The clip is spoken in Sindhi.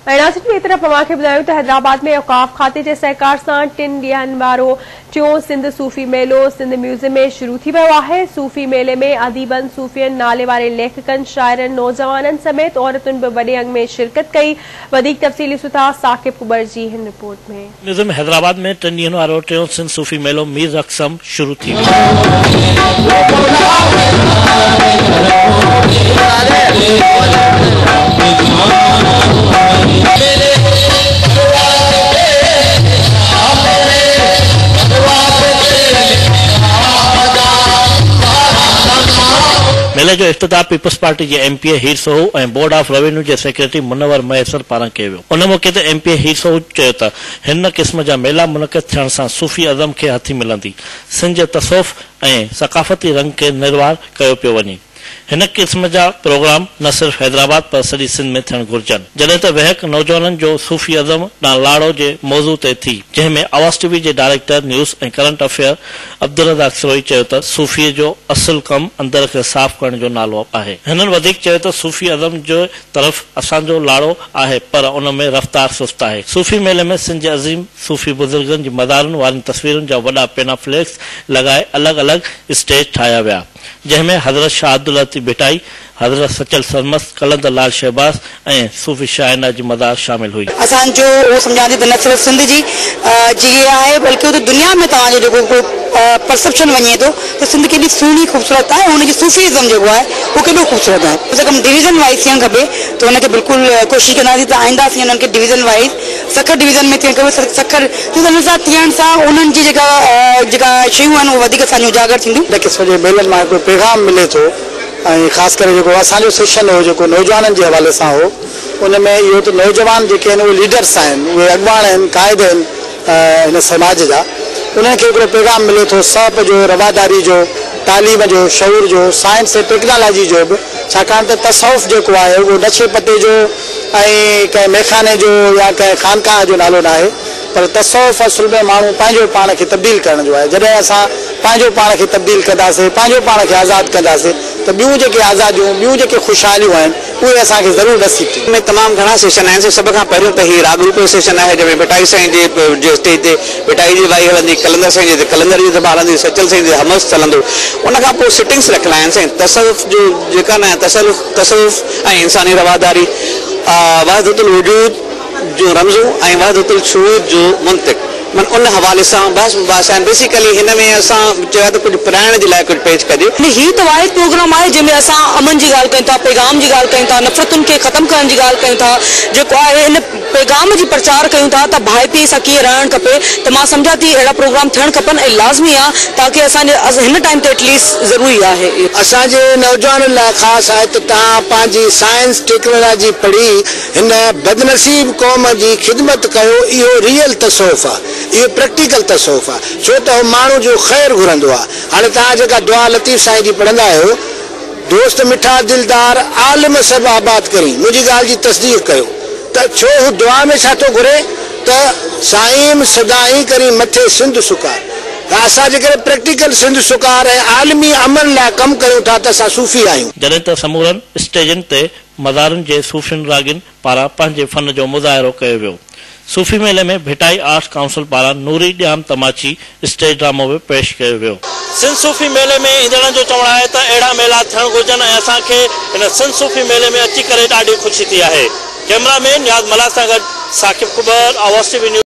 ۽ ناظرين ٻئي طرف اوهان کي ٻڌايون ته حيدرآباد ۾ اوقاف کاتي جي سهڪار سان ٽن ڏينهن وارو ٽيون سنڌ صوفي ميلو سنڌ ميوزيم ۾ شروع ٿي ويو آهي. صوفي ميلي ۾ اديبن، صوفين، نالي واري ليکڪن، شاعرن، نوجوانن سميت عورتن به وڏي انگ ۾ شرڪت ڪئي. وڌيڪ تفصيل ڏسون ٿا ثاقب ڪٻر جي هن رپورٽ ۾. ميوزيم حيدرآباد ۾ ٽن ڏينهن وارو ٽيون سنڌ صوفي ميلو مير رقصم شروع ٿي ويو. ميلي جو افتتاح پيپلز پارٽي جي M P A Heer Soho ۽ board of revenue جي سيڪريٽري منور مهيسر پاران ڪيو ويو. ان موقعي تي M P A Heer Soho چيو ته هن قسم جا ميلا منعقد ٿيڻ سان صوفي ازم کي هٿي ملندي، سنڌ جي تصوف ۽ ثقافتي رنگ کي نروار ڪيو پيو وڃي. هن قسم جا پروگرام نه صرف حيدرآباد پر سڄي سنڌ ۾ ٿيڻ گهرجن. جڏهن ته ويهڪ نوجوانن جو صوفي ازم ڏانهن لاڙو جي موضوع تي ٿي، جنهن ۾ آواز ٽي وي جي director news ۽ current affair Abdul Razzaq Sarohi چيو ته صوفي جو اصل ڪم اندر کي صاف ڪرڻ جو نالو آهي. هنن وڌيڪ چيو ته صوفي ازم جي طرف اسان جو لاڙو آهي پر ان ۾ رفتار سست آهي. صوفي ميلي ۾ سنڌ جي عظيم صوفي بزرگن جي مزارن وارين تصويرن جا وڏا پينافليڪس لڳائي الڳ الڳ اسٽيج ٺاهيا ويا، جنهن ۾ حضرت شاهه عبداللطيف ڀٽائي، حضرت سچل سرمست، قلندر لعل شهباز ۽ صوفي شاهه عنايت جي مزار شامل هئي. اسان جو اهو سمجهان ٿي ته نه صرف سنڌ جي جي آهي بلڪه اتي دنيا ۾ توهان جو جيڪو ڪو پرسيپشن وڃي ٿو ته سنڌ ڪيڏي سهڻي خوبصورت آهي ۽ ان جي صوفي ازم جيڪو آهي اهو ڪيڏو خوبصورت آهي. ڪم سي ڪم ڊويزن وائيز ٿيڻ کپي ته ان کي بلڪل ڪوشش ڪنداسين ته آئنده اسين انهن کي ڊويزن وائيز سکر ڊويزن ۾ ٿيڻ کپي سکر ڇو ته ان سان ٿيڻ سان انهن جي جيڪا جيڪا شيون آهن اهي وڌيڪ اسان جون اجاگر ٿينديون. هن قسم جي ميلن مان هڪڙو پيغام ملي ٿو ۽ خاص ڪري جيڪو اسان جو سيشن هو جيڪو نوجوانن جي حوالي سان هو ان ۾ اهو ته نوجوان جيڪي آهن اهي ليڊرس آهن اهي اڳواڻ آهن قائد آهن هن سماج جا انهن کي هڪڙو پيغام ملي ٿو سهپ جو رواداري جو تعليم جو شعور جو سائنس ۽ ٽيڪنالاجي جو به ڇاڪاڻ ته تصوف جيڪو آهي اهو نشي پتي جو ۽ ڪنهن ميخاني جو يا ڪنهن خانقاهه جو نالو ناهي پر تصوف اصل ۾ ماڻهو پنهنجو پاڻ کي تبديل ڪرڻ جو آهي جڏهن اسان پنهنجو پاڻ کي تبديل ڪنداسين پنهنجو پاڻ کي آزاد ڪنداسين ته ٻيون جيڪي آزاديون ٻيون جيڪي خوشحاليون آهن اهي اسان کي ضرور نصيب ٿينديون. ۾ تمام گهڻا سيشن آهن سائين سڀ کان پهريون ته هي راڳ روپ جو سيشن آهي جنهن ۾ ڀٽائي سائين جي جي اسٽيج تي ڀٽائي جي وائي هلندي قلندر سائين جي تي قلندر جي دفعا هلندي سچل سائين جي همس هلندو ان کان پوء سٽنگس رکيل آهن سائين تصوف جو جيڪا نه تصوف تصوف ۽ انساني رواداري وحدت الوجود جون رمزون ۽ وحدت الشهود جو منطق من ان حوالي سان بحث مباحثا آهن بيسيڪلي هن ۾ اسان چيو آهي ته ڪجهه پرائڻ جي لاء ڪجهه پيش ڪجي. هي ته واحد پروگرام آهي جنهن ۾ اسان امن جي ڳالهه ڪيون ٿا، پيغام جي ڳالهه ڪيون ٿا، نفرتن کي ختم ڪرڻ جي ڳالهه ڪيون ٿا، جيڪو آهي ان پيغام جي پرچار ڪيون ٿا ته ڀائپي سان ڪيئن رهڻ کپي ته مان سمجهان ٿي اهڙا پروگرام ٿيڻ کپن ۽ لازمي آ تاڪه اسان جي هن ٽائيم تي ايٽليسٽ ضروري آهي اهو. اسان جي نوجوانن لاء خاص آهي ته توهان پنهنجي سائنس ٽيڪنالاجي پڙهي هن بدنصيب قوم جي خدمت ڪيو اهو ريئل تصوف آ اهو پريڪٽيڪل تصوف آ ڇو ته هو ماڻهو جو خير گهرندو آ هاڻي توهان جيڪا دعا لطيف سائين جي پڙهندا آهيو دوست مٺا دلدار عالم سڀ آباد ڪرين منهنجي ڳالهه جي تصديق ڪيو ته ڇو هو دعا ۾ ڇا ٿو گهري ته سائين سدائين ڪرين مٿي سنڌ سڪار ته اسان جيڪڏهن پريڪٽيڪل سنڌ سڪار ۽ عالمي امن لاء ڪم ڪيون ٿا ته اسان صوفي آهيون. جڏهن ته سمورن اسٽيجن تي مزارن جي صوفين راڳين پاران پنهنجي فن جو مظاهرو ڪيو ويو. صوفي ميلي ۾ ڀٽائي آرٽس ڪائونسل پاران نوري ڄام تماچي اسٽيج ڊرامو به پيش ڪيو ويو. سنڌ صوفي ميلي ۾ ايندڙن جو چوڻ آهي ته اهڙا ميلا ٿيڻ گهرجن ۽ اسان کي هن سنڌ صوفي ميلي ۾ اچي ڪري ڏاڍي خوشي ٿي آهي. ڪئميرا مين نياز ملاح سان گڏ Saqib Kubar, Awaz T V news.